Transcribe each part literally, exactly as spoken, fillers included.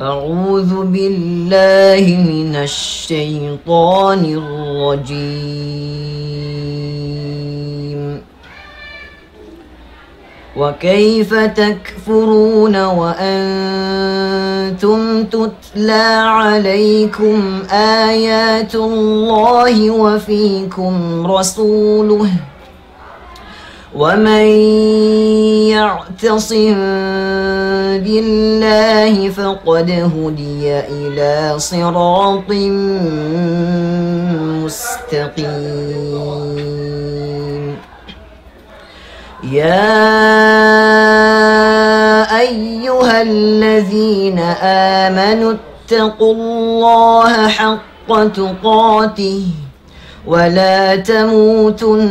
أعوذ بالله من الشيطان الرجيم. وكيف تكفرون وأنتم تتلى عليكم آيات الله وفيكم رسوله، ومن يعتصم بالله فقد هدي إلى صراط مستقيم. يا أيها الذين آمنوا اتقوا الله حق تقاته ولا تموتن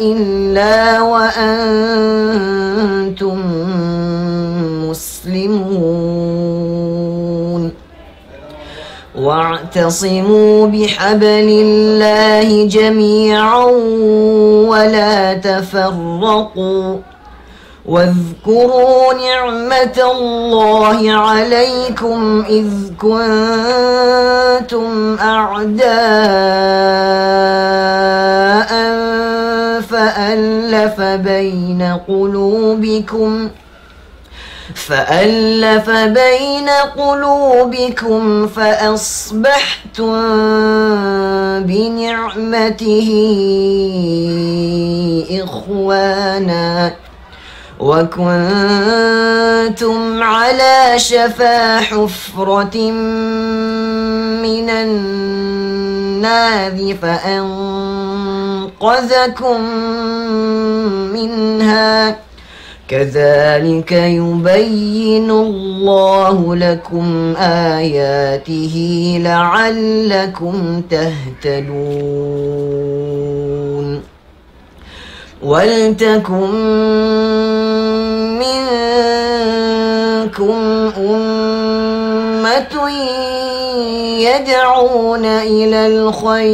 إلا وأنتم مسلمون. واعتصموا بحبل الله جميعا ولا تفرقوا. واذكروا نعمة الله عليكم إذ كنتم أعداء فألف بين قلوبكم، فألف بين قلوبكم فأصبحتم بنعمته إخوانا وكنتم على شفا حفرة من النار فأنقذكم منها. كذلك يبين الله لكم آياته لعلكم تهتدون. ولتكن منكم أمة يدعون إلى الخير،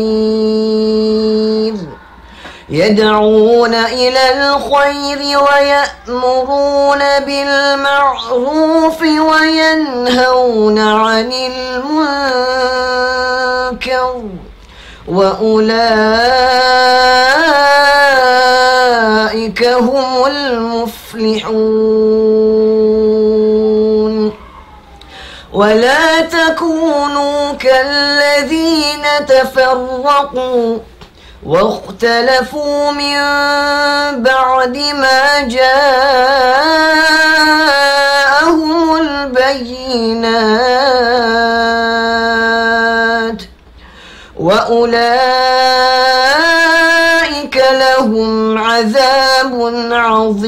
يدعون إلى الخير ويأمرون بالمعروف وينهون عن المنكر، وأولئك هم المفلحون. ولا تكونوا كالذين تفرقوا واختلفوا من بعد ما جاءهم البينات وأولئك لهم عذاب عظيم.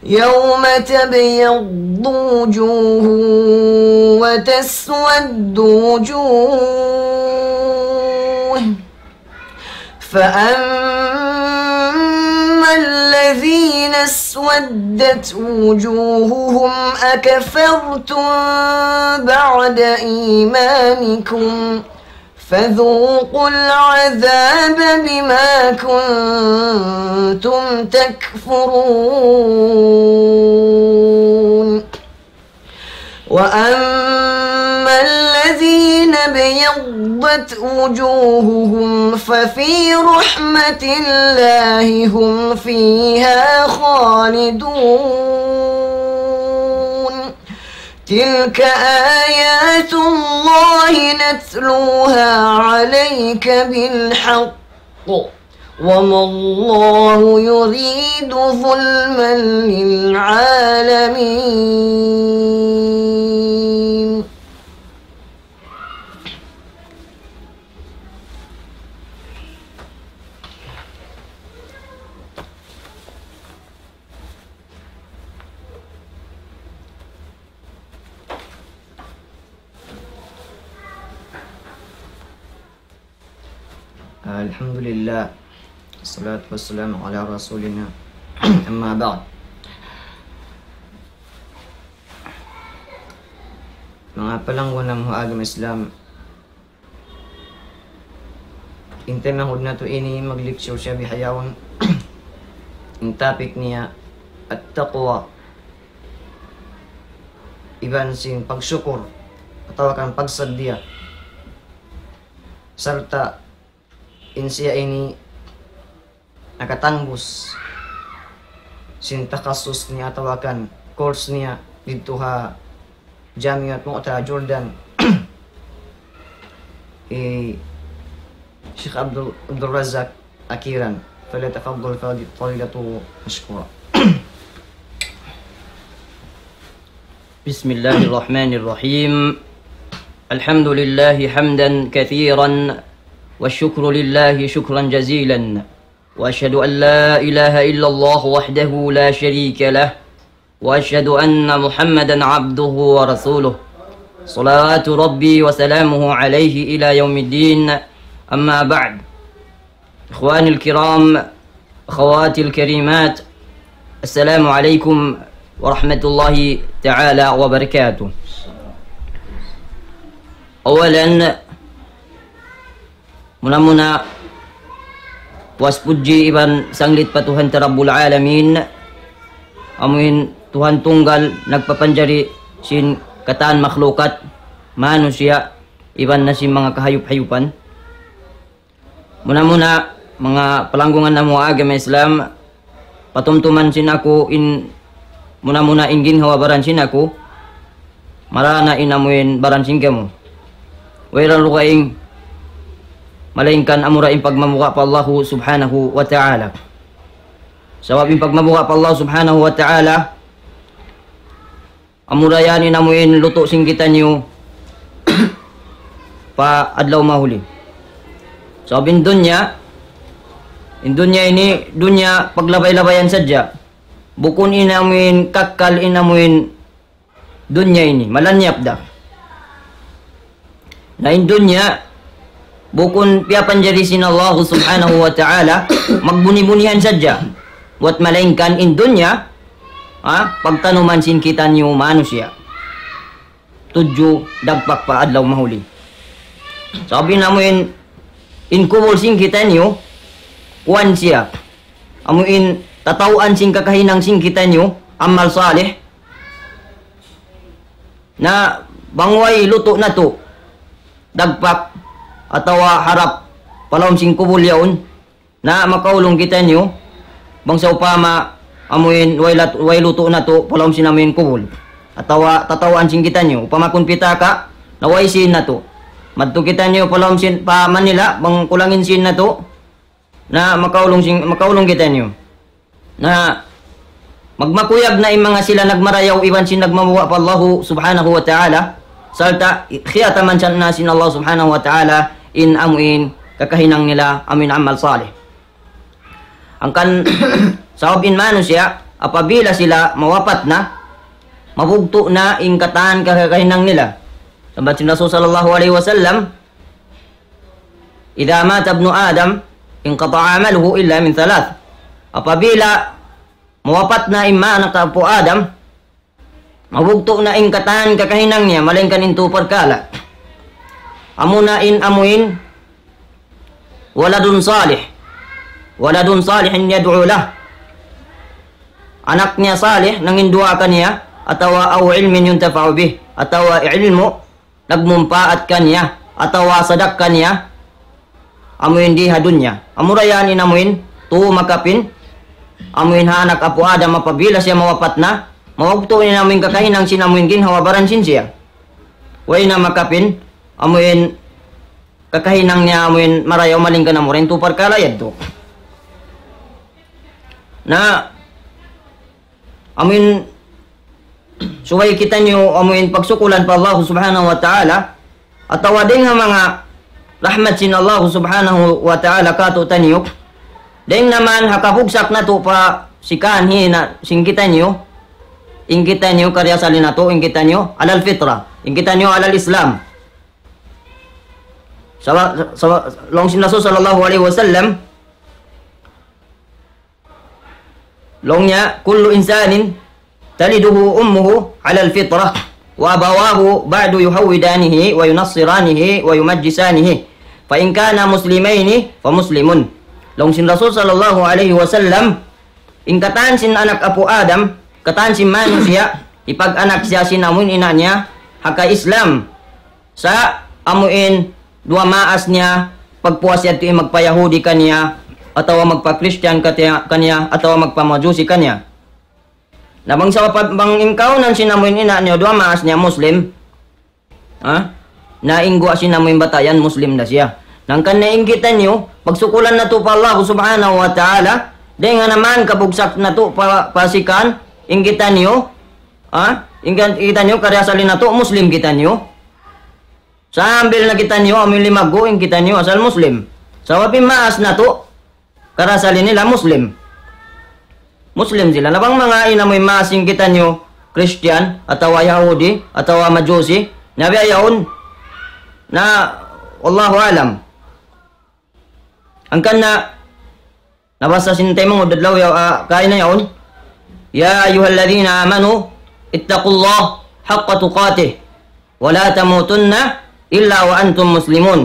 يوم تبيض وجوه وتسود وجوه، فأما الذين اسودت وجوههم أكفرتم بعد إيمانكم فذوقوا العذاب بما كنتم تكفرون. وأما الذين ابيضت وجوههم ففي رحمة الله هم فيها خالدون. تلك آيات الله نتلوها عليك بالحق وما الله يريد ظلما للعالمين. الحمد لله. الصلاة والسلام على رسولنا. أما بعد. Manga palangga' namu' ha agama Islam, in taymanghud natu' ini mag-lecture siya bihaun. In topic niya, التقوى. iban sin pagsukur atawa kan pagsaddiya. Sarta' in siya ini nakatangbus sin takhasus niya atawa kan course niya didtu ha Jamiat Mu'ta Jordan, hi Sheikh Abdul, Abdul Razak Akiran. فليتفضل فضيلته مشكورا. بسم الله الرحمن الرحيم. الحمد لله حمدا كثيرا، والشكر لله شكرا جزيلا، وأشهد أن لا إله إلا الله وحده لا شريك له، وأشهد أن محمدا عبده ورسوله، صلوات ربي وسلامه عليه إلى يوم الدين. أما بعد، إخواني الكرام، أخواتي الكريمات، السلام عليكم ورحمة الله تعالى وبركاته. أولا, muna-muna, puas pudji iban sanglit pa Tuhan ta Rabbul Alamin, amuin Tuhan tunggal nagpapanjari sin katan makhlukat, manusiya', iban na sin manga kahayup-hayupan. Muna-muna, manga palanggungan namu' agama Islam, patumtuman sin aku in, muna-muna in ginhawa-baran sin aku, marana in amuin baran sin kamu. Wayruun dugaing, malaingkan amura in pagmabuga' pa Allahu Subhanahu wa Ta'ala. Sabab in pagmabuga' pa Allahu Subhanahu wa Ta'ala, amura yan in amuin lutu' sin kitaniyu pa adlaw mahuli. Sabab in dunya, in dunya ini dunya paglabay-labayan sadja. Bukun in amuin kakkal in amuin dunya ini, malanyap da. Na in dunya, bukun piyapanjari sin Allahu Subhanahu wa Ta'ala, magbuni-bunihan sadja. Buwat malaingkan in dunya, ha, pagtanuman sin kitaniyu manusiya'. Tudju dagpak pa adlaw mahuli. Sabab in amuin, in kubul sin kitaniyu, kuwan siya. Amuin tatawaan sin kakahinang sin kitaniyu, amal salih, na bang way lutu' natu' dagpak atawa harap pa lawm sin kubul yaun, na makaulung kitaniyu, bang sawpama amuin way lat-, way lutu' natu' pa lawm sin amuin kubul. Atawa tatawaan sin kitaniyu, upama kun pitaka', na way sīn natu'. Madtu kitaniyu pa lawm sin, pa Manila, bang kulang in sīn natu', na makaulung sin, makaulung kitaniyu. Na magmakuyag na in manga sila nagmarayaw iban sin nagmabuga' pa Allahu Subhanahu wa Ta'ala, sarta' khiyataman sa na sin Allah Subhanahu wa Ta'ala in amuin kakahinang nila amuin amal salih. Hangkan sabab in manusiya', apabila sila mawapat na, mabugtu' na in katan kakahinang nila. Sabab sin Rasul sallallahu alayhi wasallam, إذا مات ابن آدم انقطع عمله إلا من ثلاث. Apabila mawapat na in anak apu' Adam, mabugtu' na in katan kakahinang niya, malaingkan in tū parkala'. Amuna in amuin, ولد صالح، ولد صالح يدعو له. Anak niya salih, nanginduwaa kaniya, atawa أو علم ينتفع به, atawa ilmu' nagmumpaat kaniya, atawa sadakka niya, amuin di ha dunya. Amura yan in amuin, tū makapin, amuin ha anak apu' Adam apabila siya mawapat na, mabugtu' in amuin kakahinang sin amuin ginhawa-baran sin siya. Way na makapin, amuin kakahinang niya amuin marayaw malaingkan amura in tū parkala' yadtu. Na, amuin subay kitaniyu amuin pagsukulan pa Allah Subhanahu wa Ta'ala, atawa dayng ha manga rahmat sin Allah Subhanahu wa Ta'ala kātu'niyu, dayng naman ha kabugsak natu' pa sikan hina sin kitaniyu, in kitaniyu kariasali natu', in kitaniyu على الفطرة, in kitaniyu على الإسلام. Saba-, saba-, laung sin Rasul sallallahu alayhi wasallam, laung niya, كل إنسان تلده أمه على الفطرة وأبواه بعد يهودانه وينصرانه ويمجسانه فإن كانا مسلمين فمسلم. Laung sin Rasul sallallahu alayhi wasallam, in katan sin anak apu' Adam, katan sin manusiya', Hipag-anak siya sin amuin ina' niya ha ka-Islam. Sa' amuin duwa maas niya, pagpuas yadtu in magpa-Yahudi kaniya, atawa magpa-Christian katiya-, kaniya, atawa magpa-Majusi kaniya. Na bang sa pa-, bang in kaunan sin amuin ina' niya duwa maas niya Muslim, ha? Na in guwa' sin amuin bata' yan Muslim da siya. Hangkan na in kitaniyu, pagsukulan natu' pa Allah Subhanahu wa Ta'ala, dayn ha naman kabugsak natu' pa, pasikan, in kitaniyu, ha? In kan-, kitaniyu, kariasali natu', Muslim kitaniyu. Sambil na kitaniyu, amuin limaggu', in kitaniyu, asal Muslim. Sabab in maas natu', karasali nila Muslim. Muslim sila. Na bang manga in amuin maas in kitaniyu Christian, atawa Yahudi, atawa Majusi, na biya' yaun, na wallahu alam. Hangkan na, nabasa sin taymanghud adlaw ya-, ah, kaina yaun. يا أيها الذين آمنوا اتقوا الله حق تقاته ولا تموتن إلا وأنتم مسلمون.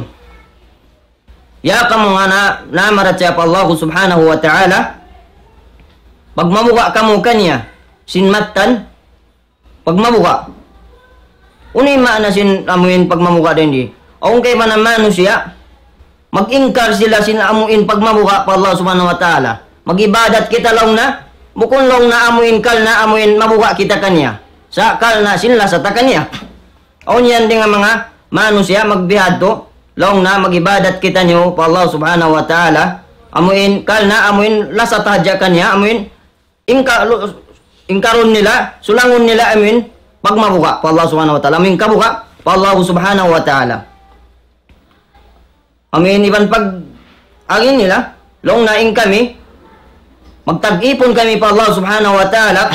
Ya kamu nga na, namarachaya pa Allah Subhanahu wa Ta'ala, pagmabuga' kamu kaniya, sin mattan, pagmabuga'. Unu in maana sin amuin pagmabuga' dayn di? Awn kaibanan manusiya', mag-ingkar sila sin amuin pagmabuga' pa Allah Subhanahu wa Ta'ala. Mag-ibadat kita laung na, bukun laung na amuin karna' amuin mabuga' kita kaniya. Sa' karna' sin lasa ta kaniya. Awn yan dayn ha manga manusiya' magbihadtu, laung na mag-ibadat kitaniyu pa Allah Subhanahu wa Ta'ala, amuin, karna' amuin lasa ta hadja kaniya, amuin, ingka-, lu-, ingkarun nila, sulangun nila, amuin, pagmabuga' pa Allah Subhanahu wa Ta'ala, amuin kabuga' pa Allah Subhanahu wa Ta'ala. Amuin iban pag-agi nila, laung na in kami, magtag-ipun kami pa Allah Subhanahu wa Ta'ala,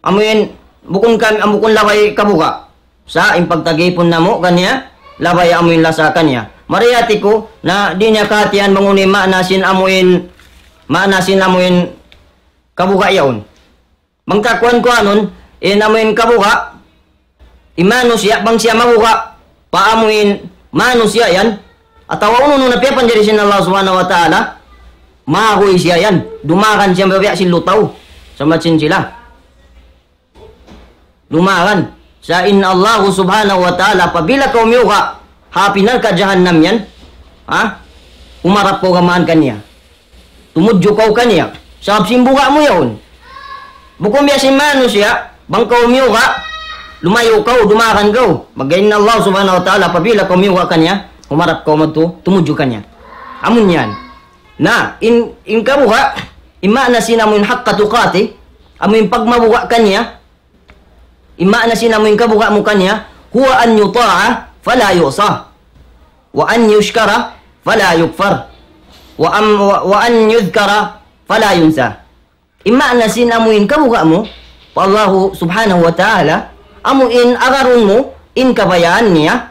amuin, bukun kami, am-, bukun labay kabuga'. Sa' in pagtag-ipun namu' kaniya, labay amuin lasa kaniya. Mari hati ku, na di' niya kahatihan bang unu in maana sin amuin, maana sin amuin kabuga' yaun. Bang kakuan-kuanun, in amuin kabuga', in manusiya' bang siya mabuga', pa amuin manusiya' yan, atawa unu-unu na piyapanjari sin Allah Subhanahu wa Ta'ala, maguy siya yan, dumagan siya mabiya' sin lutaw, sambat sin sila. Dumagan. Sa' in Allah Subhanahu wa Ta'ala, apabila kaw miyuga', ha api narka' jahannam yan, ha? Humarap kaw gamaan kaniya. Tumudju kaw kaniya. Sabab sin buga' mu yaun. Bukun biya' sin manusiya', bang kaw miyuga', lumayu' kaw, dumagan kaw. Pag in Allah Subhanahu wa Ta'ala, apabila kaw miyuga' kaniya, humarap kaw madtu, tumudju kaniya. Amun yan. Na, in, in kabuga', in maana sin amuin haqqa tuqati, amuin pagmabuga' kaniya, in maana sin amuin kabuga' mu kaniya, هو أن يطاع فلا يعصى، وأن يشكر فلا يكفر، وأم-، و-، وأن يذكر فلا ينسى. In maana sin amuin kabuga' mu pa Allahu Subhanahu wa Ta'ala, amuin agarun mu in kabayaan niya,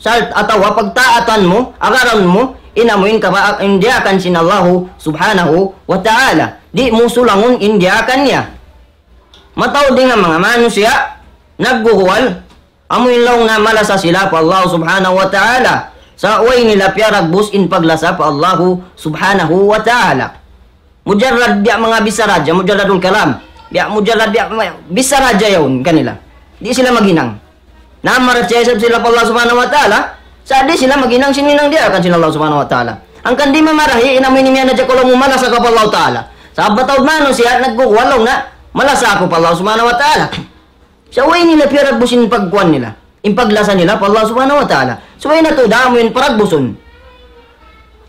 sal-, atawa pagtaatan mu, agarun mu in amuin kaba-, in diyaakan sin Allahu Subhanahu wa Ta'ala. Di' mu sulangun in diyaakan niya. Mataud dayn ha manga manusiya', nagguguwal, amuin laung na malasa sila pa Allah Subhanahu wa Ta'ala. Sa' way nila piyaragbus in paglasa pa Allah Subhanahu wa Ta'ala. Mujarrad biya' manga bichara hadja, mujarradul kalam. Biya' mujarrad biya' ma-, bichara hadja yaun kanila. Di' sila maghinang. Na, marachaya isab sila pa Allah Subhanahu wa Ta'ala, sa' di' sila maghinang sin hinang diyaakan sin Allah Subhanahu wa Ta'ala. Hangkan di' mamarahi, in amuin imiyan hadja kaw laung mu malasa kaw pa Allah Ta'ala. Sa' mataud manusiya', nagguguwal laung na, malasa aku pa Allah Subhanahu wa Ta'ala. Sa' way nila piyaragbus in pagkuan nila, in paglasa nila pa Allah Subhanahu wa Ta'ala. Subay natu' da amuin paragbusun.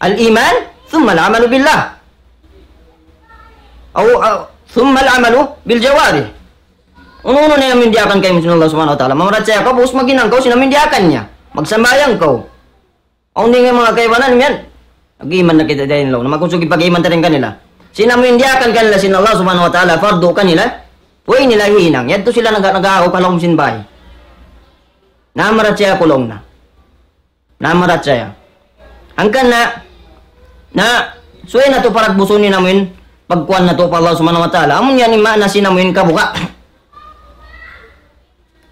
الإيمان ثم العمل بالله. أو، أو، ثم العمل بالجوارح. Unu-unu na in amuin diyaakan kaymu sin Allah Subhanahu wa Ta'ala. Mamarachaya kaw, pag'ubus maghinang kaw sin amuin diyaakan niya. Magsambahayang kaw. Awn dayn ha manga kaibanan yan. Nag-iman na kita dayn laung. Na makusug in pag-iman ta dayn kanila. Sin amuin diyaakan kanila sin Allah Subhanahu wa Ta'ala, fardu kanila. Way nila hinang. Yadtu sila nag-, nag-aaw pa lawm sin bay. Na, marachaya aku laung na. Na, marachaya. Hangkan na, na, subay natu' paragbusun in amuin pagkuan natu' pa Allah Subhanahu wa Ta'ala. Amun yan in maana sin amuin kabuga'.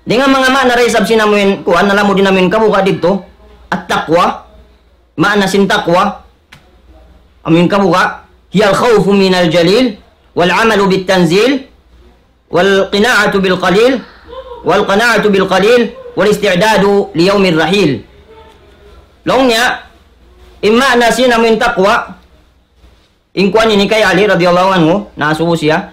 Dayn ha manga maana da isab sin amuin kuan, na lamud in amuin kabuga' didtu, at-taqwa, maana sin taqwa, amuin kabuga', هي الخوف من الجليل والعمل بالتنزيل والقناعة بالقليل، والقناعة بالقليل، والاستعداد ليوم الرحيل. Laung niya, in maana sin amuin taqwa, in kuwan ini kay Ali radiyallahu anhu, nasubu siya.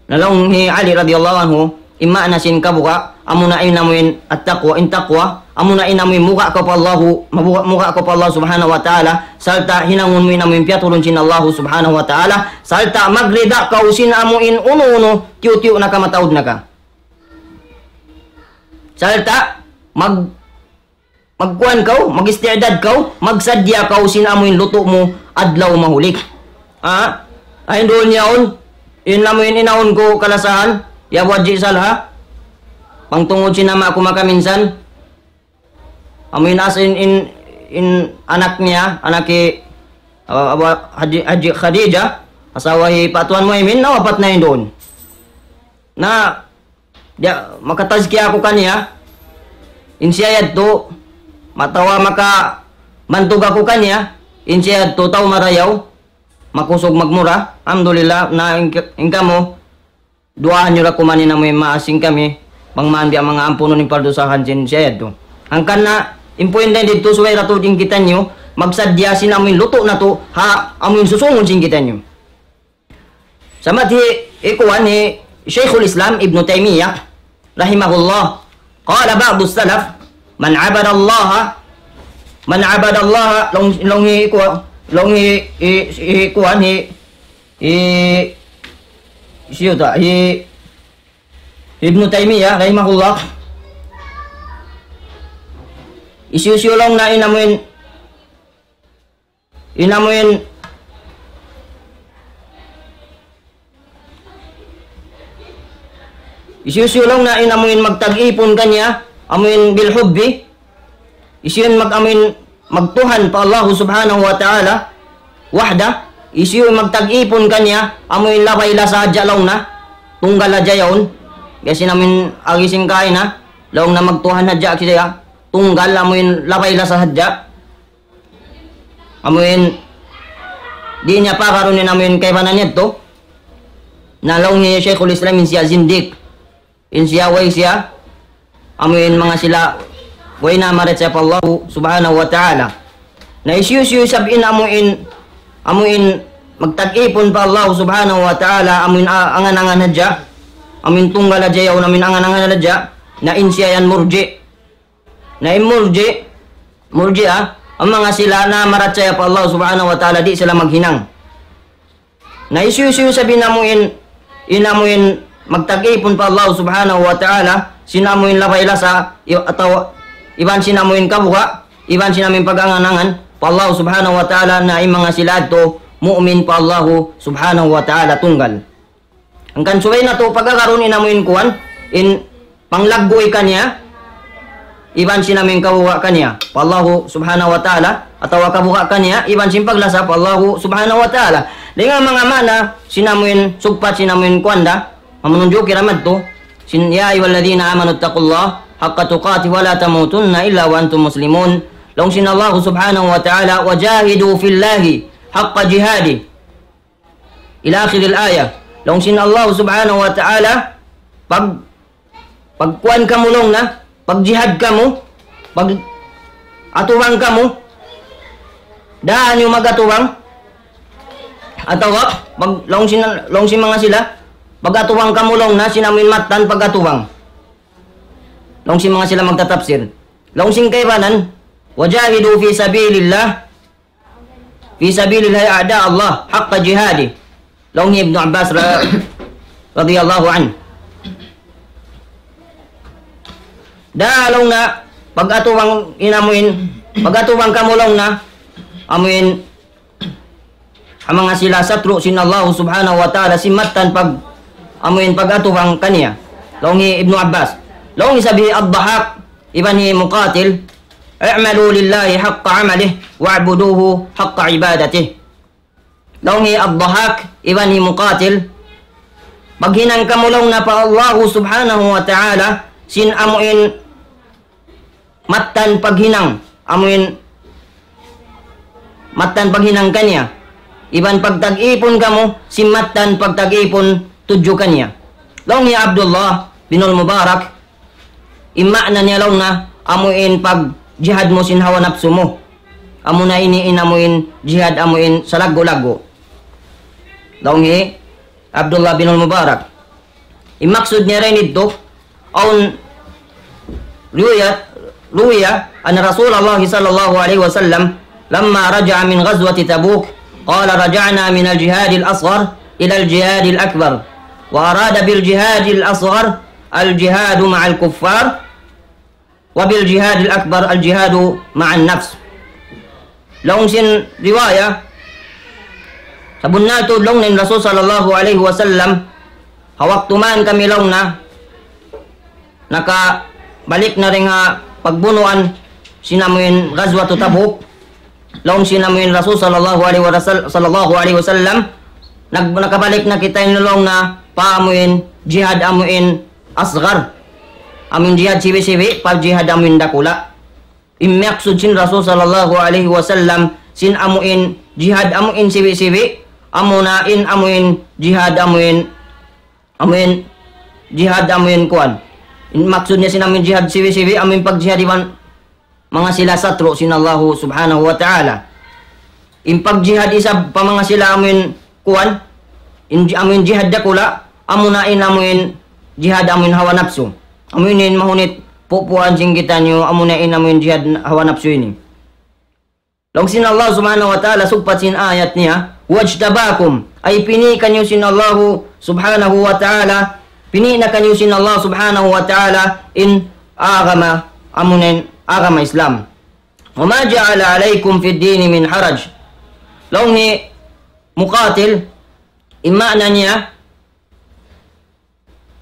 Na laung hi Ali radiyallahu anhu, in maana sin kabuga', amuna in amuin at-taqwa, in taqwa, amuna in amuin muga' kaw pa Allahu, mabuga', muga' kaw pa Allah subhanahu wa ta'ala, sarta' hinangun mu in amuin piyaturun sin Allahu subhanahu wa ta'ala, sarta' magrida kaw sin amuin unu-unu, tiyu'-tiyu' na ka, mataud na ka. Sarta' mag-, magkuwan kaw, mag-isti'dad kaw, magsadya kaw sin amuin lutu' mu adlaw mahulik. Ha? Ay, duun yaun, in amuin inaun ku kalasahan, ya Abu Haji Salha, pangtungud sin ama' ku makaminsan, amuin as in, in, in anak niya, anak hi, uh, Abu Haji, Haji Khadija, asawa hi Patuan Muhaymin, nawapat na in duun. Na, diya, makatazkiya aku kaniya, in siya yadtu, matawa makabantug aku kaniya, in siya yadtu tau marayaw, makusug magmura, alhamdulillah, na in, in kamu, duwaahan niyu ra kuman in amuin maas sin kami, bang man biya' manga ampunun in pardusahan sin siya yadtu. Hangkan na, in puwin dayn didtu subay ra tuud in kitaniyu, magsadya sin amuin lutu' natu', ha, amuin susungun sin kitaniyu. Samat hi, hi kuwan hi Shaykhul Islam Ibn Taymiyyah, rahimahullah, قال بعض السلف: من عبد الله، من عبد الله, laung, laung hi kuwan, laung hi, hi, hi kuwan hi, hi, siyu ta, hi Ibn Taymiyyah, rahimahullah. Hisiyu-siyu laung niya in amuin, in amuin, hisiyu-siyu laung niya in amuin magtag-ipun kaniya, amuin bil hubbi, hisiyu in mag-, amuin magtuhan pa Allahu subhanahu wa ta'ala, wahda, hisiyu in magtag-ipun kaniya, amuin labay lasa hadja laung niya, tunggal hadja yaun, biya' sin amuin agi sin kaina, laung niya magtuhan hadja kisa ya, tunggal amuin labay lasa hadja. Amuin, di' niya pagarun in amuin kaibanan niya yadtu. Na laung hi Shaykhul Islam in siya zindik. In siya way siya, amuin manga sila, way na marachaya pa Allahu subhanahu wa ta'ala. Na hisiyu-siyu isab in amuin, amuin magtag-ipun pa Allahu subhanahu wa ta'ala, amuin a-, angan-angan hadja, amuin tunggal hadja yaun, amuin angan-angan hadja, na in siya yan murji'. Na in murji', murji'ah, in manga sila na marachaya pa Allah subhanahu wa ta'ala, di' sila maghinang. Na hisiyu-siyu isab in amuin, in amuin magtag-ipun pa Allah subhanahu wa ta'ala, sin amuin labay lasa, i-, atawa iban sin amuin kabuga', iban sin amuin pag-angan-angan pa Allah subhanahu wa ta'ala, na in manga sila yadtu mu'min pa Allah subhanahu wa ta'ala tunggal. Hangkan subay natu' pag-agarun in amuin kuwan, in panglagguy kaniya, iban sin amuin kabuga' kaniya pa Allahu subhanahu wa ta'ala, atawa kabuga' kaniya, iban sin paglasa pa Allahu subhanahu wa ta'ala. Dayn ha manga maana sin amuin sugpat sin amuin kuwan da, mamununjuki ra madtu, sin, يا أيها الذين آمنوا اتقوا الله حق تقاته ولا تموتن إلا وأنتم مسلمون. Laung sin Allahu subhanahu wa ta'ala, وجاهدوا في الله حق جهاده. إلى آخر الآية. Laung sin Allah subhanahu wa ta'ala, pag, pagkuwan kamu laung niya, pagjihad kamu, pag-atubang kamu, daan niyu mag-atubang, atawa, pag, laung sin, laung sin manga sila, pag-atubang kamu laung niya, sin amuin mattan pag-atubang. Laung sin manga sila magtatapsir. Laung sin kaibanan, وجاهدوا في سبيل الله في سبيل الله أعداء الله حق جهاده. Laung hi Ibnu Abbas ra-, radiyallahu anhu. Da laung niya, pag-atubang in amuin, pag-atubang kamu laung niya, amuin, ha manga sila satru' sin Allah subhanahu wa ta'ala, sin mattan pag, amuin pag-atubang kaniya. Laung hi Ibnu Abbas. Laung isab hi Ad-Dahhak, iban hi Muqatil, اعملوا لله حق عمله واعبدوه حق عبادته. Laung hi Ad-Dahhak, iban hi Muqatil, maghinang kamu laung niya pa Allahu subhanahu wa ta'ala, sin amuin mattan paghinang, amuin mattan paghinang kaniya. Iban pagtag-ipun kamu, sin mattan pagtag-ipun tudju kaniya. Laung hi Abdullah bin al-Mubarak, in maana niya laung niya, amuin pagjihad mu sin hawa napsu mu. Amuna ini in amuin jihad amuin salaggu'-laggu'. Laung hi Abdullah bin al-Mubarak. In maksud niya dayn didtu, awn روي، روي أن رسول الله صلى الله عليه وسلم لما رجع من غزوة تبوك قال: رجعنا من الجهاد الأصغر إلى الجهاد الأكبر، وأراد بالجهاد الأصغر الجهاد مع الكفار، وبالجهاد الأكبر الجهاد مع النفس. Laung sin riwaya, sabunnal tuud laung niya in Rasul sallallahu alayhi wasallam, ha waktu man kami laung niya, nakabalik na dayn ha pagbunuan sin amuin Ghazwatu Tabuk, laung sin amuin Rasul sallallahu alayhi wa sal-, sallallahu alayhi wasallam, nag-, nakabalik na kita ini laung niya pa amuin jihad amuin asghar. Amuin jihad sibi'-sibi', pa jihad amuin dakula'. In maksud sin Rasul sallallahu alayhi wasallam, sin amuin jihad amuin sibi'-sibi', amuna in amuin jihad amuin, amuin jihad amuin kuwan. In maksud niya sin amuin jihad sibi'-sibi', amuin pagjihad iban manga sila satru' sin Allahu subhanahu wa ta'ala. In pagjihad isab pa manga sila amuin kuwan, in, amuin jihad dakula', amuna in amuin jihad amuin hawa napsu. Amuin in mahunit pupuan sin kitaniyu, amuna in amuin jihad hawa napsu ini. Laung sin Allah subhanahu wa ta'ala, sugpat sin ayat niya, واجتباكم, ay pini' kaniyu sin Allahu subhanahu wa ta'ala, pini' na kaniyu sin Allah subhanahu wa ta'ala, in agama, amuna in agama Islam. وما جعل عليكم في الدين من حرج. Laung hi Muqatil, in maana niya,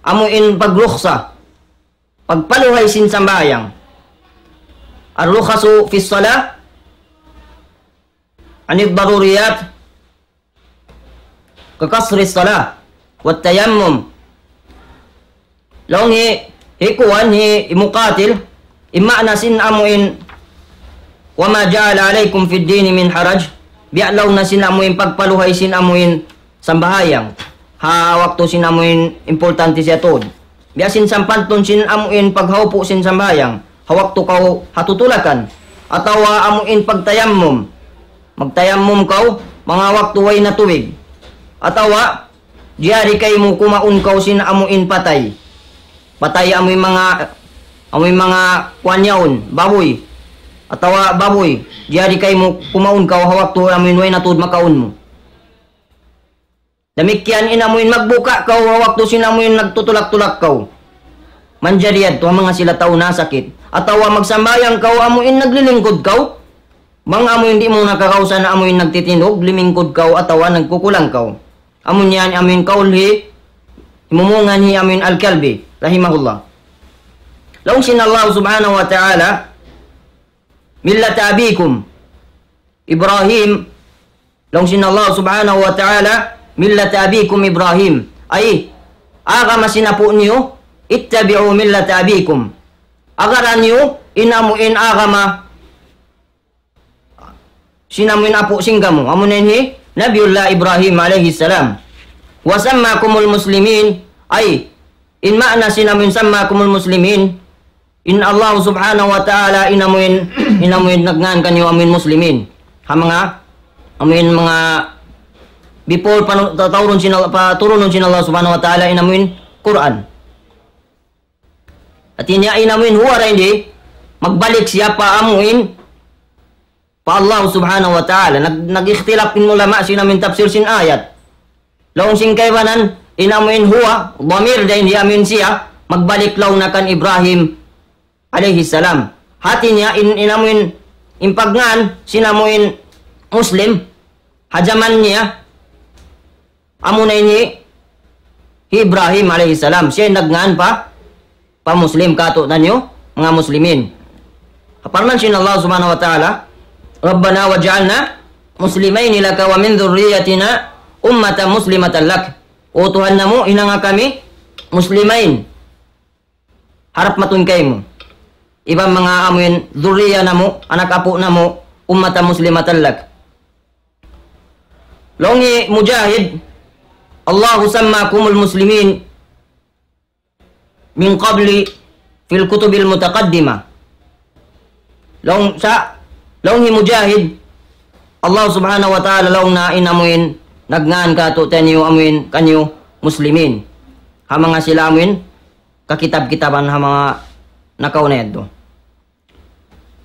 amu in pagrukhsa, pagpaluhay sin sambahayang. الرخص في الصلاة عن الضروريات كقصر الصلاة والتيمم. Laung hi, hi kuwan, hi, hi Muqatil, in maana sin amu in, وما جعل عليكم في الدين من حرج, biya' laung niya sin amu in pagpaluhay sin amu in sambahayang. Ha waktu sin amu in importante siya tuud. Biya' sin sampantun sin amu in paghaupu' sin sambahayang. Ha waktu kaw ha tutulakan. Atawa amu in pagtayammum. Magtayammum kaw, manga waktu way na tubig. Atawa, jari kaymu kumaun kaw sin amu in patay. Patay amu in manga, amu in manga kuwan yaun, babuy. Atawa babuy, jari kaymu kumaun kaw ha waktu amu in way na tuud makaun mu. Damikkiyan in amu in magbuka' kaw ha waktu sin amu in nagtutulak-tulak kaw. Manjari yadtu ha manga sila tau nasakit. Atawa magsambahayang kaw amu in naglilingkud kaw. Bang amu in di' mu na kakawasa na amu in nagtitindug, limingkud kaw atawa nagkukulang kaw. Amu niyan amu in kaul hi, himumungan hi amu in Al-Kalbi, rahimahullah. Laung sin Allah subhanahu wa ta'ala, ملة أبيكم إبراهيم. Laung sin Allah subhanahu wa ta'ala, ملة أبيكم إبراهيم. Ay, agama sin apu' niyu, اتبعوا ملة أبيكم. Agara niyu, in amu in agama sin amu in apu' sin kamu. Amu na in hi Nabiullah Ibrahim alayhi salam. وسماكم المسلمين. Ay, in maana sin amu in سماكم المسلمين. In Allah subhanahu wa ta'ala in amu in, in amu in nagngan kaniyu amu in muslimin. Ha manga, amu in manga before panu-, ta-, taurun sin Allah, paturunun sin Allah subhanahu wa ta'ala in amu in Qur'an. Hati niya in amu in huwa ra ini, magbalik siya pa amu in pa Allah subhanahu wa ta'ala. Nag-, nag-ikhtilaf in ulama sin amu in tafsir sin ayat. Laung sin kaibanan, in amu in huwa, damir dayn di amu in siya, magbalik laung na kan Ibrahim alayhi salam. Hati niya, in, in amu in, in pagngan, sin amu in Muslim, ha jaman niya, amu na ini hi Ibrahim alayhi salam. Siya in nagngan pa, pa Muslim katu'niyu, manga Muslimin. Parman sin Allah subhanahu wa ta'ala, ربنا واجعلنا مسلمين لك ومن ذريتنا أمة مسلمة لك. O Tuhan namu', hinanga kami Muslimain. Harap matun kaymu. Iban manga amu in, dhurriya namu', anak apu' namu', أمة مسلمة لك. Laung hi Mujahid, الله سماكم المسلمين. من قبل في الكتب المتقدمة. Laung sa, laung hi Mujahid, Allah Subhanahu wa Ta'ala laung niya in amuin nagngan kātu'niyu amuin kaniyu Muslimin. Ha manga sila amuin kakitab-kitaban ha manga nakauna yadtu.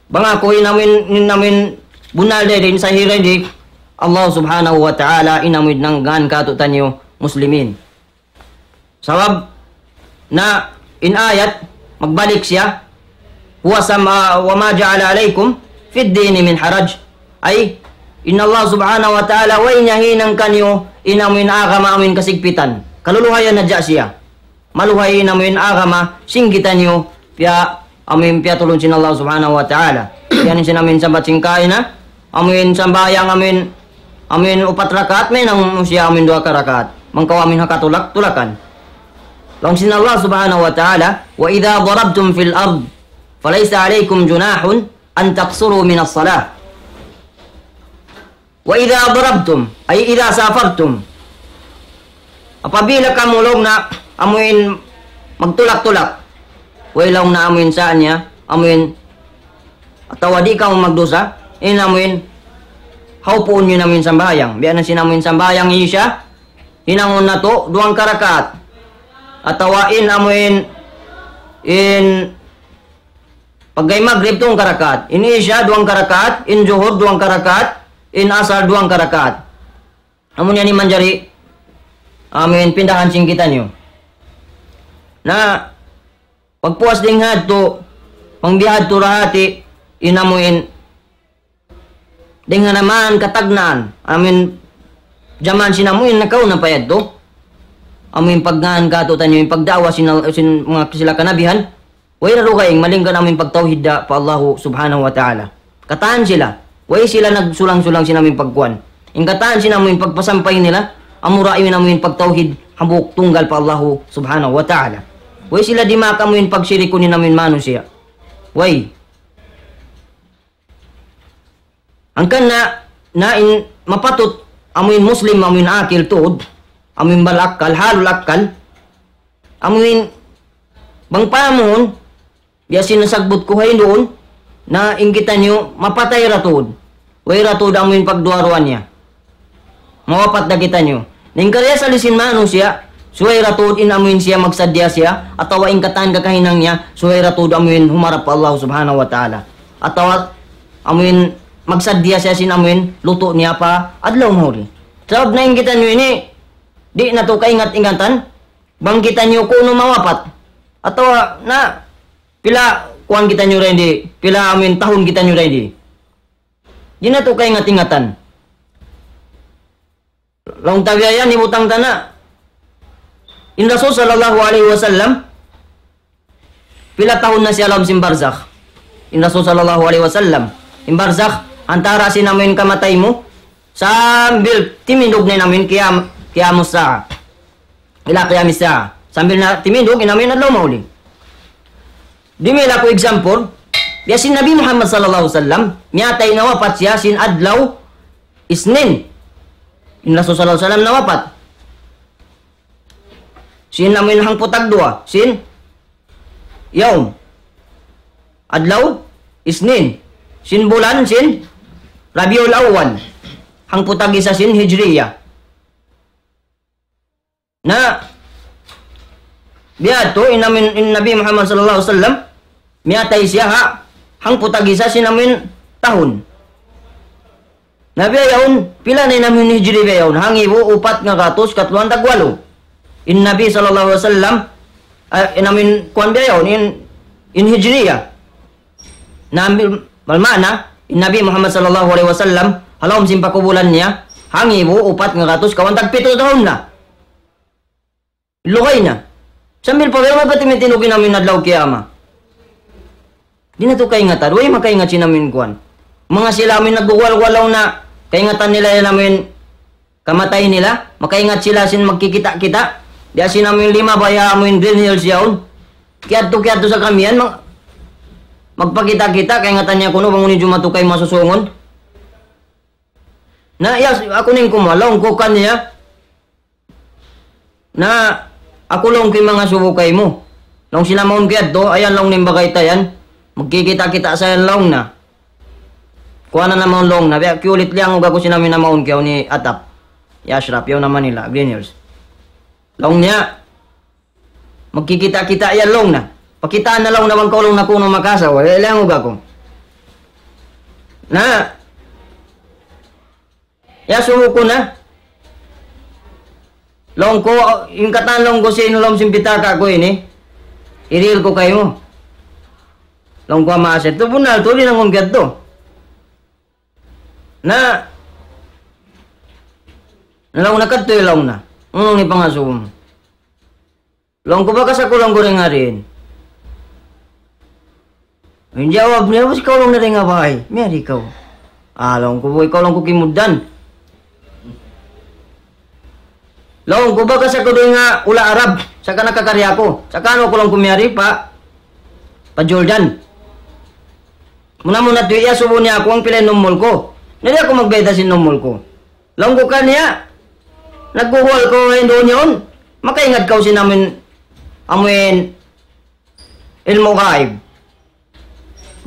Bang aku in amuin, in amuin bunnal dayn di, in sahih dayn di, Allah Subhanahu wa Ta'ala in amuin nagngan kātu'niyu Muslimin. Sabab na in ayat magbalik siya, هو سم-، وما جعل عليكم في الدين من حرج. Ay, in Allah Subhanahu wa Ta'ala way niya hinang kaniyu in amuin agama amuin kasigpitan. Kaluluhayan hadja siya. Maluhay in amuin agama sin kitaniyu piya amuin piyatulun sin Allah Subhanahu wa Ta'ala. Yan in sin amuin sambat sin kaina, amuin sambahayang amuin, amuin upat rakaat, mahinang mu siya amuin duwa ka rakaat. Bang kaw amuin ha katulak-tulakan. Laung sin Allah Subhanahu wa Ta'ala, وإذا ضربتم في الأرض فليس عليكم جناح أن تقصروا من الصلاة. وإذا ضربتم، أي إذا سافرتم. Apabila kamu laung niya amuin magtulak-tulak. Way laung niya amuin sa niya, amuin atawa di' kamu magdusa, in amuin hawpuun niyu in amuin sambahayang. Biya' na sin amuin sambahayang Isya, hinangun natu' duwang ka rakaat. Atawa in amuin, in pagga Magrib duwang ka rakaat, in Isya duwang ka rakaat, in Juhur duwang ka rakaat, in Asar duwang ka rakaat. Amu yan in manjari, amuin pindahan sin kitaniyu. Na, pagpuas dayn ha yadtu, bang biya' ha yadtu ra hati, in amuin, dayn ha naman katagnaan, amuin, jaman sin amuin, nakauna pa yadtu. Amuin pagngān kātu'niyu, in pagda'wa sin, sin manga sila kanabihan, way ra dugaing, malaingkan amuin pagtawhid da pa Allahu Subhanahu wa Ta'ala. Katan sila, way sila nagsulang-sulang sin amuin pagkuan. In katan sin amuin pagpasampay nila, amura in amuin pagtawhid hambuuk tunggal pa Allahu Subhanahu wa Ta'ala. Way sila dimaak amuin pagsirikun in amuin manusiya'. Way. Hangkan na, na in mapatut, amuin Muslim, amuin akil tuud, amuin bal akkal, halul akkal, amuin bang pahamun, biya' sin nasabbut ku ha yan duun, na in kitaniyu mapatay ra tuud. Way ra tuud amuin pagduwa-ruwa niya. Mawapat da kitaniyu. Na in karna' asal sin manusiya', subay ra tuud in amuin siya magsaddiya siya, atawa in katan kakahinang niya, subay ra tuud amuin humarap pa Allah Subhanahu wa Ta'ala. Atawa amuin magsaddiya siya sin amuin lutu' niya pa adlaw mahuli. Sabab na in kitaniyu ini, di' natu' kaingat-ingatan, bang kitaniyu kunu' mawapat. Atawa na, pila kuwan kitaniyu dayn di, pila amuin tahun kitaniyu dayn di. Di' natu' kaingat-ingatan. Laung ta biya' yan, hibutang ta na. In Rasul sallallahu alayhi wasallam, pila tahun na siya ha lawm sin barzakh. In Rasul sallallahu alayhi wasallam. In barzakh, antara sin amuin kamatay mu, sambil timindug na in amuin qiyam-, qiyamus sa'a. Ila qiyamis sa'a. Sambil na timindug, in amuin adlaw mahuli. Dumihil aku example, biya' sin Nabi Muhammad sallallahu alayhi wasallam, miyatay, nawapat siya sin adlaw Isnin. In Rasul sallallahu alayhi wasallam nawapat sin amuin hangpu' tagduwa sin yawm. Adlaw Isnin. Sin bulan sin Rabiul Awwal. Hangpu' tag-isa sin Hijriya. Na, biya' ha yadtu, in amuin, in Nabi Muhammad sallallahu alayhi wasallam, miyatay siya ha hangpu' tag-isa sin amuin tahun. Na biya' yaun, pila na in amuin Hijri biya' yaun, hangibu upat ngagatus katluan tagwalu. In Nabi sallallahu alayhi wasallam, ah, in amuin kuwan biya' yaun, in, in Hijriya. Na ambil, malmana, in Nabi Muhammad sallallahu alayhi wasallam, ha lawm sin pakubulan niya, hangibu upat ngagatus kawhaan tagpitu tahun na. Lugay na. Sambil pa biya' magpatimindug in amuin adlaw kiyamat. Di' natu' kaingatan, way makaingat sin amuin kuwan. Manga sila amuin nagguwal-guwal na, kaingatan nila yan amuin kamatay nila, makaingat sila sin magkikita'-kita'. Di' sin amuin lima baya' amuin Green Hills yaun. Kiyadtu-kiyadtu sa kamiyan, mag-, magpakita'-kita', kaingatan niya kunu', bang unu in jumatu kaymu ha susungun. Na, ya, aku na in kumuha, laung ku kaniya. Na, aku laung ku in manga subu kaymu. Laung sin namaun ku yadtu, ayan laung niya in bagay ta yan. Magkikita'-kita' sa yan laung niya. Kuwan na namaun laung niya. Biya' kiyulit liyangug aku sin amu in namaun ku yaun hi Atap. Hi Ashraf, yaun ha Manila, Green Hills. Laung niya, magkikita'-kita' yan laung niya. Pakitaan na laung niya bang kaw laung niya kunu' makaasawa. Biya' liyangug aku. Na, iyasubu ku na. Laung ku, in katan laung ku sin ha lawm sin pitaka' ku ini, hirihil ku kaymu. Laung ku, ama' Asir, tu bunnal tuud in hinangun ku yadtu. Na, na laung niya, kadtu laung niya. Unu in pangasubu mu? Laung ku, bakas aku laung ku dayn ha diin. In jawab niya, ubus ikaw laung na dayn ha bay. Miyari ikaw. Ah, laung ku, ikaw laung ku kimugdan. Laung ku, bakas aku dayn ha hula' Arab. Saka nakakari aku. Saka unu aku laung ku miyari pa, pa Jordan. Muna-muna tuwi' iyasubu niya aku bang pila in numul ku. Na di' aku magbayta' sin numul ku. Laung ku kaniya, nagguguwal kaw duun yaun. Makaingat kaw sin amu in, amu in ilmu' gaib.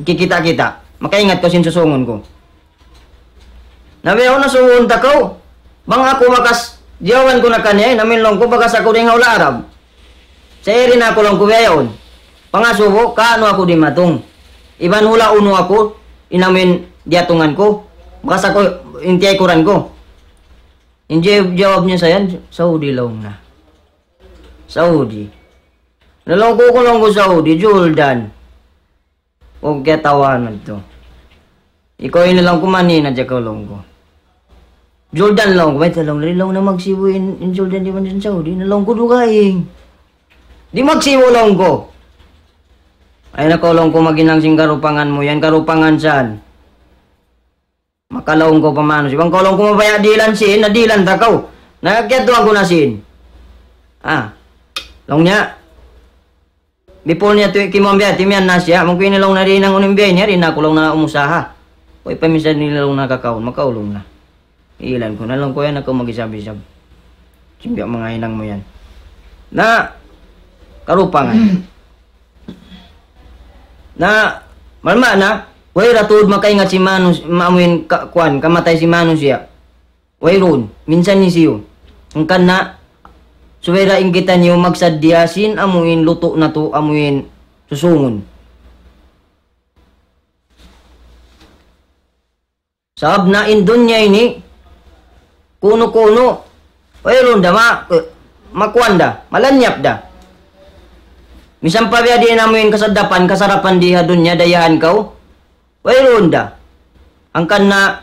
Kikita'-kita'. Makaingat kaw sin susungun ku. Na biya' yaun na suwun ta kaw. Bang aku bakas, jiyawaban ku na kaniya, in amu in laung ku bakas aku dayn ha hula' Arab. Sa' yari na aku laung ku biya' yaun. Pangasubu, kaunu aku dimatung. Iban hula' unu aku, in amu in diyatungan ku. Bakas aku in tiyaykuran ku. In jawab, jawab niya sa yan, Saudi laung niya. Saudi. Na laung ku, ku laung ku Saudi, Jordan. O, kiyatawanan tu. Ikaw ini laung ku, mani na diya kaw laung ku. Jordan laung ku, mayta' laung, di' laung na magsibu' in, in Jordan di' man sin Saudi, na laung ku dugaing. Di' magsibu' laung ku. Ay na kaw laung ku maghinang sin karupangan mu yan, karupangan san. Maka laung ku pa manusiya'. Bang kaw laung ku mabaya' dihilan sin, na dihilan ta kaw. Na kiyadtuan ku na sin. Ah. Laung niya. Bipul niya tu kimuan biya' timiyan na siya. Mungkin ini laung na di' hinangun in biya' niya, di' na aku laung na umusaha. Uy, paminsan nila laung na kakaun, makaulung na. Ilan ku na laung ku yan, aku mag-isab-isab. Simbiya' manga hinang mu yan. Na, karupangan. Na, malma na, way ra tuud makaingat sin manus-, maamuin ka-, kuwan, kamatay sin manusiya'. Wayruun, minsan hisiyu. Hangkan na, subay ra in kitaniyu magsaddiya sin amuin lutu' natu', amuin susungun. Sabab na in dunya ini, kunu-kunu, wayruun da ma-, makuan da, malanyap da. Misan pa biya' diin amuin kasadapan, kasarapan di ha dunya, dayahan kaw, wayruun da. Hangkan na,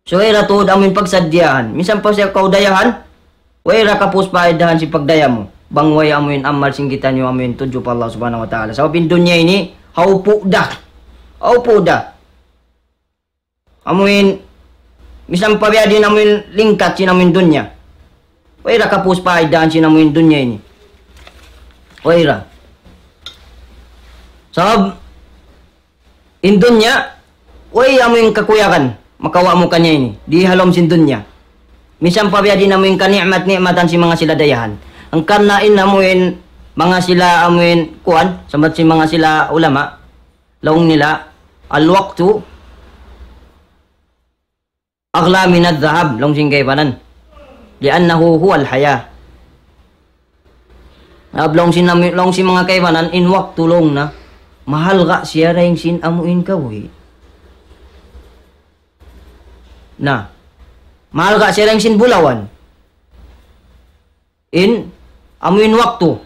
subay ra tuud amuin pagsaddiyahan. Misan pa siya kaw dayahan, way ra kapus paidahan sin pagdaya mu. Bang way amuin amal sin kitaniyu amuin tudju pa Allah Subhanahu wa Ta'ala. Sabab in dunya ini, haupu' da. Haupu' da. Amuin, misan pa biya' diin amuin lingkat sin amuin dunya. Way ra kapus paidahan sin amuin dunya ini. Way ra. Sabab, in dunya, way amuin kakuyagan, makawa' mu kaniya ini, di ha lawm sin dunya. Misan pa biya' diin amuin kani'mat-ni'matan sin manga sila dayahan. Hangkan na in amuin manga sila amuin kuwan, sambat sin manga sila ulama, laung nila, الوقت أغلى من الذهب, laung sin kaibanan. لأنه هو الحياة. Sabab laung sin nami-, laung sin manga kaibanan, in waktu laung na, mahalga' siya dayn sin amuin kabuhi'. Na, mahalga' siya dayn sin bulawan. In, amuin waktu.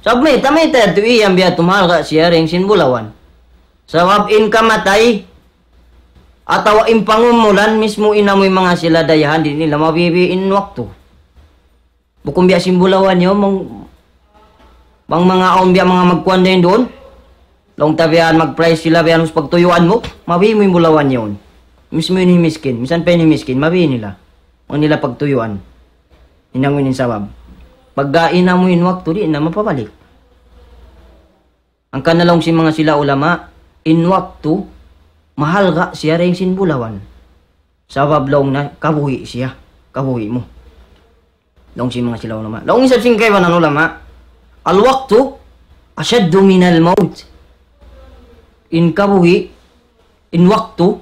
Sabab mayta', mayta' yadtu iyan biya' tumahalga' siya dayn sin bulawan. Sabab in kamatay, atawa in pangumulan mismu in amuin manga sila dayahan di' nila mabibi' in waktu. Bukun biya' sin bulawan yaun, mang-, bang manga awn biya' manga magkuan dayn duun. Laung ta biya' mag-price sila biya' ubus pagtuyuan mu, mabibi' mu in bulawan yaun. Mismu in miskin, misan pa in miskin, mabibi' nila. Bang nila pagtuyuan. Hinangun in sabab. Pagga in amuin waktu di' na mapabalik. Hangkan na laung sin manga sila ulama, in waktu, mahalga' siya dayn sin bulawan. Sabab laung na, kabuhi' siya. Kabuhi' mu. Laung sin manga sila ulama. Laung isab sin kaibanan ulama, الوقت أشد من الموت. In kabuhi', in waktu,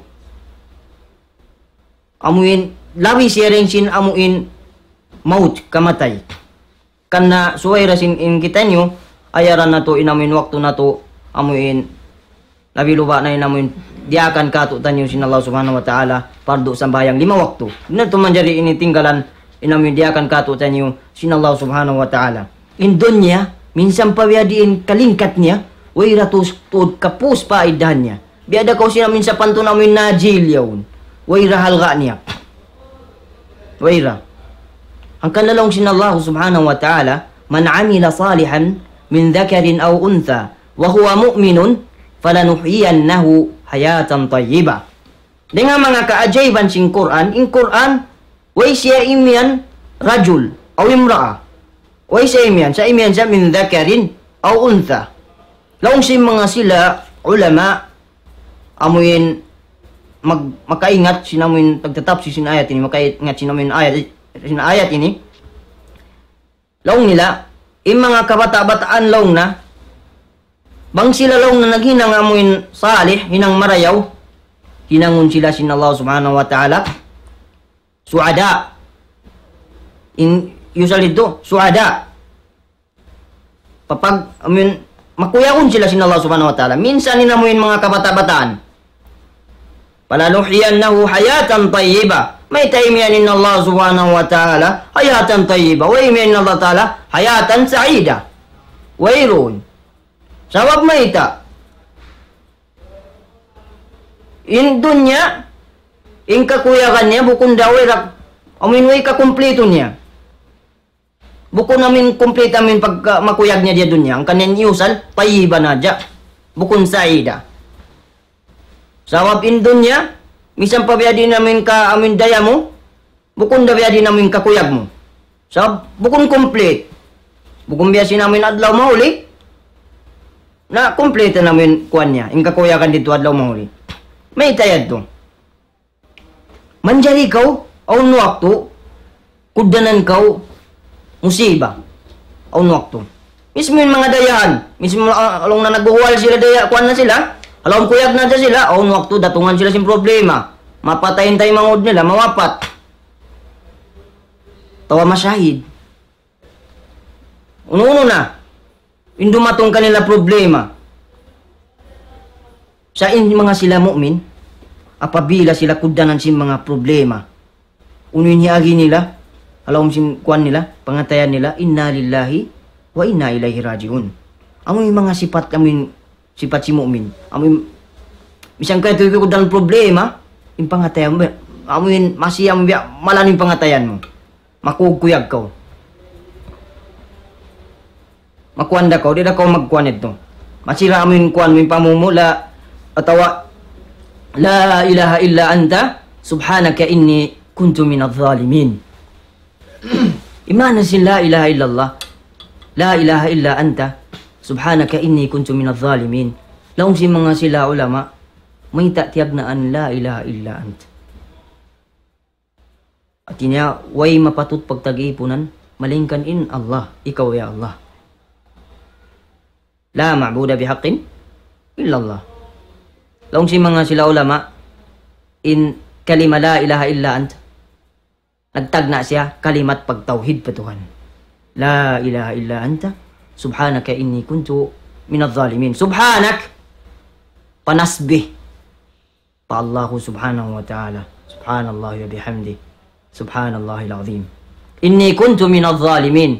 amuin labi siya dayn sin amuin maut, kamatay. Karna' subay da sin in kitaniyu, ayaran natu' in amuin waktu natu', amuin labi luba na in amuin diyaakan kātu'niyu sin Allah Subhanahu wa Ta'ala, pardu sambahayang lima waktu. Di' natu' manjari ini tinggalan in amuin diyaakan kātu'niyu sin Allah Subhanahu wa Ta'ala. In dunya, minsan pa biya' diin kalingkat niya, way ra tuud kapūs pa iddahan niya. Biya' da kaw sin amuin sapantun amuin najil yaun. Way ra halga' niya. Way ra. Hangkan laung sin Allah Subhanahu wa Ta'ala, من عمل صالحا من ذكر أو أنثى وهو مؤمن فلنحيينه حياة طيبة. Dayn ha manga kaajaiban sin Qur'an, in Qur'an, way siya imiyan rajul, aw imra'a. Way siya imiyan, sa' imiyan siya من ذكر أو أنثى. Laung sin manga sila ulama, amuin mag-, makaingat sin amuin tagtatapsir sin ayat ini, makaingat sin amuin ayat, sin ayat ini. Laung nila, in manga kabata'-bataan laung na, bang sila laung na naghinang amuin salih, hinang marayaw, hinangun sila sin Allah Subhanahu wa Ta'ala su'ada. In, usually didtu, su'ada. Papag-, amuin, makuyagun sila sin Allah Subhanahu wa Ta'ala. Minsan in amuin manga kabata'-bataan. فلنحيينه حياة طيبة. Mayta' imiyan in Allah Subhanahu wa Ta'ala حياة طيبة. Way imiyan in Allah Ta'ala حياة سعيدة. Wayruun. Sabab mayta'? In dunya, in kakuyagan niya, bukun da way ra, amuin way kakumplitu niya. Bukun amuin kumplita amuin pagka-, makuyag niya di ha dunya. Hangkan in iyusal, tayyiba na hadja. Bukun sa'ida. Sabab in dunya, misan pa biya' diin amuin ka, amuin daya mu, bukun da biya' diin amuin kakuyag mu. Sabab bukun kumplit. Bukun biya' sin amuin adlaw mahuli, na kumplit na amuin kuwan niya. In kakuyagan didtu adlaw mahuli. Mayta' yadtu? Manjari kaw, awn waktu, kugdanan kaw, musiba. Awn waktu. Mismu in manga dayahan, mismu, ah, laung na naghuhuwal sila daya, kuwan na sila, ha lawm kuyag na hadja sila, awn waktu datungan sila sin problema. Mapatay in taymanghud nila, mawapat. Atawa masahid. Unu-unu na in dumatung kanila problema. Sa' in manga sila mu'min, apabila sila kugdanan sin manga problema, unu in hiagi nila, ha lawm sin kuwan nila, pangatayan nila, إنا لله وإنا إليه راجعون. Amu in manga sipat, amu in sipat sin mu'min. Amu in, misan kaytu kugdanan problema, in pangatayan, amu in masi, amu in biya' malan in pangatayan mu. Makuyag-kuyag kaw. Makuwan da kaw, di' da kaw magkuwan yadtu. Masira amu in kuwan mu in pamumula, atawa, لا إله إلا أنت سبحانك إني كنت من الظالمين. In maana sin لا إله إلا الله, لا إله إلا أنت سبحانك إني كنت من الظالمين. Laung sin manga sila ulama, mayta' tiyagnaan لا إله إلا أنت. Hāti niya, way mapatut pagtag-iipunan, malaingkan in Allah, ikaw ya Allah. لا معبود بحق إلا الله. Laung sin manga sila ulama, in kalima لا إله إلا أنت, nagtagna' siya kalimat pagtawhid pa Tuhan. لا إله إلا أنت سبحانك إني كنت من الظالمين. سبحانك, panasbih pa Allahu Subhanahu wa Ta'ala. سبحان الله وبحمده. سبحان الله العظيم. إني كنت من الظالمين.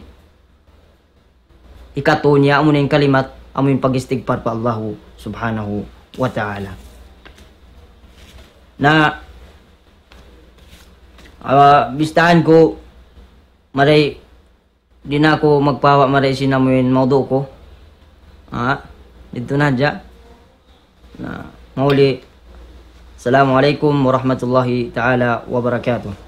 Hikatu niya amu in kalimat, amu in pag-istigfar pa Allahu Subhanahu wa Ta'ala. Na, ah, bistahan ku, mari di' na aku magpahawa' mari sin amu in mawdu' ku. Ha? Didtu na hadja. Na, mahuli. Assalamu alaykum warahmatullahi ta'ala wabarakatuh.